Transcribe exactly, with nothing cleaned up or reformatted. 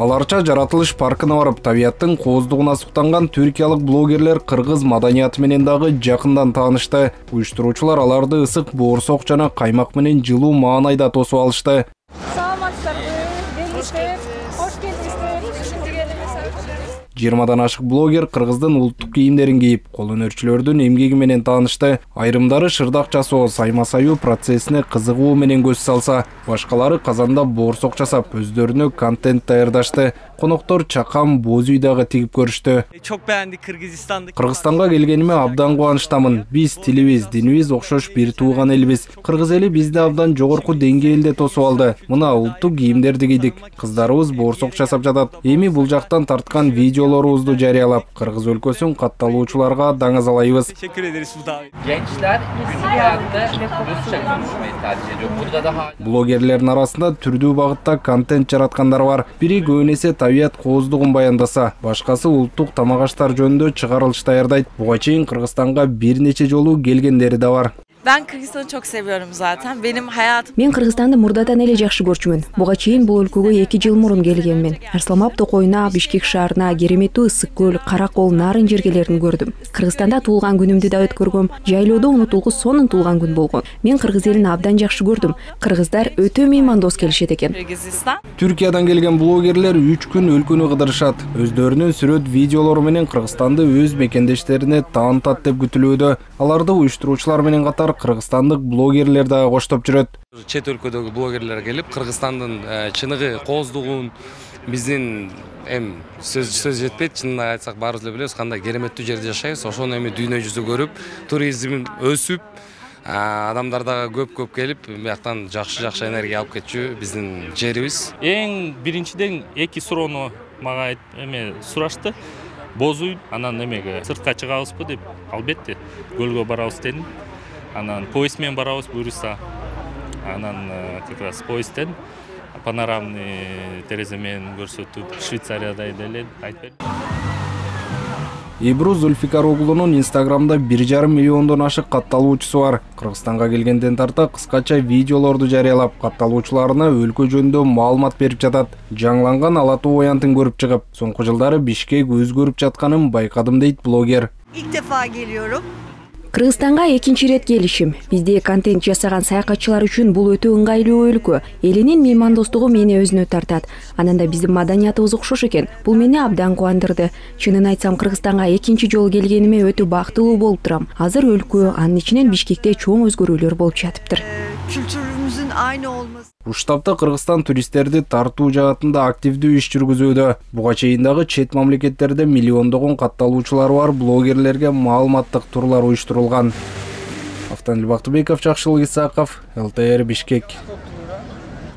Аларча жаратылыш паркына барып, табияттын кооздугуна суктанган түркиялык блогерлер кыргыз маданияты менен дагы жакындан таанышты. Уюштуруучулар аларды ысык боорсок жана каймак менен жылуу маанайда тосуп алышты. жыйырмадан ашык блогер кыргыздын улуттук кийимдерин кийип, кол өнөрчүлөрдүн эмгеги менен таанышты. Айрымдары шырдак жасоо, сайма саюу процессине кызыгуу менен көз салса, башкалары казанда боорсок жасап, өздөрүнө контент даярдашты. Коноктор чакам, боз үй дагы тигип көрүштү. Çok beğendik Kırgızistan'daki. Кыргызстанга келгениме абдан кубанычтамын. Биз тилибиз, динибиз окшош бир тууган элбиз. Кыргыз эли бизди абдан жогорку деңгээлде тосуп алды. Мына улуттук кийимдерди кийдик. Кыздарыбыз боорсок жасап жатат. Эми бул жактан тарткан видеолорубузду жарыялап, Кыргыз өлкөсүн катталуучуларга даңазалайбыз. Teşekkür ederiz bu davet. Gençler günlük hayatta Rusça konuşmayı tercih ediyor. Burada daha Блогерлердин арасында түрдүү багытта контент жараткандар бар. Бири көбүнесе табият кооздугун баяндаса, башкасы улуттук тамак аштар жөнүндө чыгарылыш даярдайт. Буга чейин Кыргызстанга бир нече жолу келгендери да бар. Ben Kırgızistan'ı çok seviyorum zaten. Benim hayatım... Мен Кыргызстанды мурдадан эле жакшы көрчүмүн. Буга чейин бул өлкөгө эки жыл мурун келгенмин. Арсламап токойуна, Бишкек шаарына, Кереметтүү ысык көл, Каракол, Нарын жергелерин көрдүм. Кыргызстанда туулган күнүмдү да өткөргөм. Жайлоодо унутулгус сонун туулган күн болгон. Мен Кыргыз элин абдан жакшы көрдүм. Кыргыздар өтө меймандос келишет экен. Kırgızistan. Түркиядан келген блогерлер үч күн өлкөнү кыдырышат. Өздөрүнүн сүрөт видеолору менен Кыргызстанды өз мекендештерине таанытат деп күтүлүүдө. Аларды уюштуруучулар менен катар кыргызстандык блогерлер дагы коштоп жүрөт. Чет өлкөдөгү блогерлер келип, Кыргызстандын чыныгы кооздугун, биздин эм сөз сөз жетпейт, чынын айтсак баарыбыз эле билебиз кандай кереметтүү жерде жашайбыз. Ошону эми дүйнө жүзү көрүп, туризм өсүп, адамдар дагы көп-көп келип, бияктан жакшы-жакшы энергия алып кетчү биздин жерибиз. Эң биринчиден эки суроону мага эме сурашты. Боз үй, анан эмеге сыртка чыгабызбы деп, албетте көлгө барабыз дедим. Анан поезд менен барабыз буюрса. Анан как раз поездден панорамный терезе менен көрсөтүп, Швейцариядай деле айтып берди. Ибру Зульфикар Оглунун Инстаграмда бир жарым миллиондон ашык катталуучусу бар. Кыргызстанга келгенден тарта кыскача видеолорду жарыялап, катталуучуларына өлкө жөнүндө маалымат берип жатат. Жаңланган Ала Тоо аянтын көрүп чыгып, соңку жылдары Бишкек өзгөрүп жатканын байкадым дейт блогер. İlk defa geliyorum. Кыргызстанга экинчи ирет келишим. Бизде контент жасаган саякатчылар үчүн бул өтө ыңгайлуу өлкө. Элинин меймандостугу мени өзүнө тартат. Анан да биздин маданиятыбыз окшош экен. Бул мени абдан кубандырды. Чынын айтсам, Кыргызстанга экинчи жолу келгениме өтө бактылуу болуп турам. Азыр өлкө, анын ичинен Бишкекте чоң өзгөрүүлөр болуп жатыптыр. Kültürümüzün aynı olması. Уштапта Кыргызстан туристтерди тартуу жаатында активдүү иш жүргүзүүдө. Буга чейин дагы чет мамлекеттерде миллиондогон катталуучулары бар блогерлерге маалыматтык турлар уюштурулган. Автанил Бактыбеков, Жакшылык Исаков, эл тэ эр Бишкек.